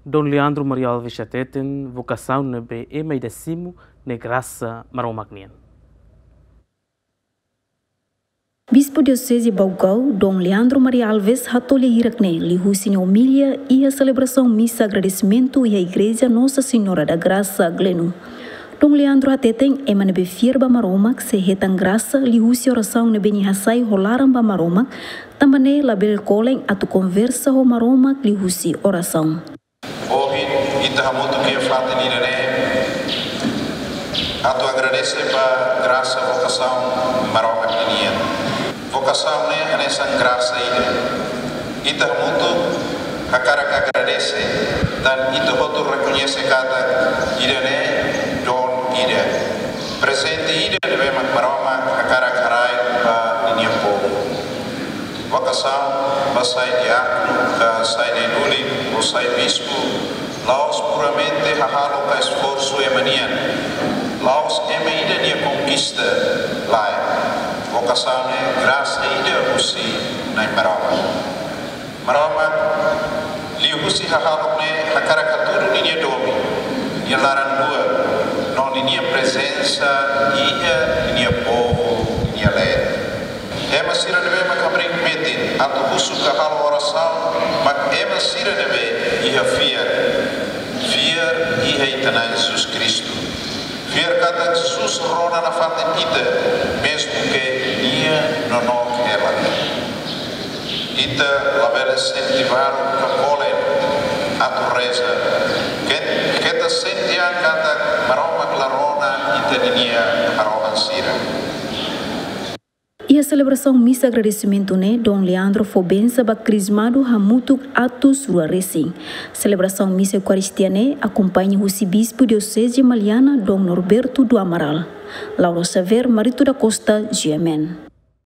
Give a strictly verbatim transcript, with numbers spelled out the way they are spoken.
Dom Leandro Maria Alves hateten, vokasaun ne'ebé ema ida simu ne'e grasa Maromak nian. Bispu Dioseze Baucau, Dom Leandro Maria Alves, hato'o lia hirak ne'e liuhusi nia omilia iha selebrasaun misa agradesimentu iha Igreja Nossa Senhora da Graça, Gleno. Dom Leandro hateten, ema ne'ebé fiar ba Maromak sei hetan grasa liuhusi orasaun ne'ebé nia hasai ho laran ba Maromak, tanba ne'e labele kolen atu konversa ho Maromak liuhusi orasaun. Ohin, ita hamutuk iha fatin ida-ne'e atu agradese ba grasa vokasaun Maromak ninian. Vokasaun ne'e hanesan grasa ida. Ita hamutuk hakarak agradese, tan ita hotu rekoñese katak ida-ne'e dom ida. Prezente ida ne'ebé mak Maromak hakarak haraik ba ninia povu. Vokasaun ba sai diákonu, ka sai na'i-lulik, ou sai bispu, la'ós puramente hahalok ka esforsu ema nian. La'ós ema ida nia konkista, lae. Vokasaun ne'e grasa ida husi Na'i Maromak. Maromak, liuhusi hahalok ne'e hakarak hatudu ninia domin, nia laran-luak, no ninia prezensa iha ninia povu nia leet. Ema sira ne'ebé mak hamriik metin atu husu ka halo orasaun mak ema sira ne'ebé iha fiar. Fiar iha ita-nia Na'i Jesus Kristu. Fiar katak Jesus rona nafatin ita, mezmu ke nia nonook hela. Ita labele sente baruk ka kolen atu reza. Ke-, keta sente an katak Maromak la rona ita ninia harohan sira. Iha selebrasaun misa agradesimentu ne'e, Dom Leandro fó bensa ba krizmadu hamutuk atus rua resin. Selebrasaun misa Eukaristia ne'e akompaña husi Bispu Dioseze Maliana, Dom Norberto do Amaral. Laura Xavier, Marito da Costa, G M N.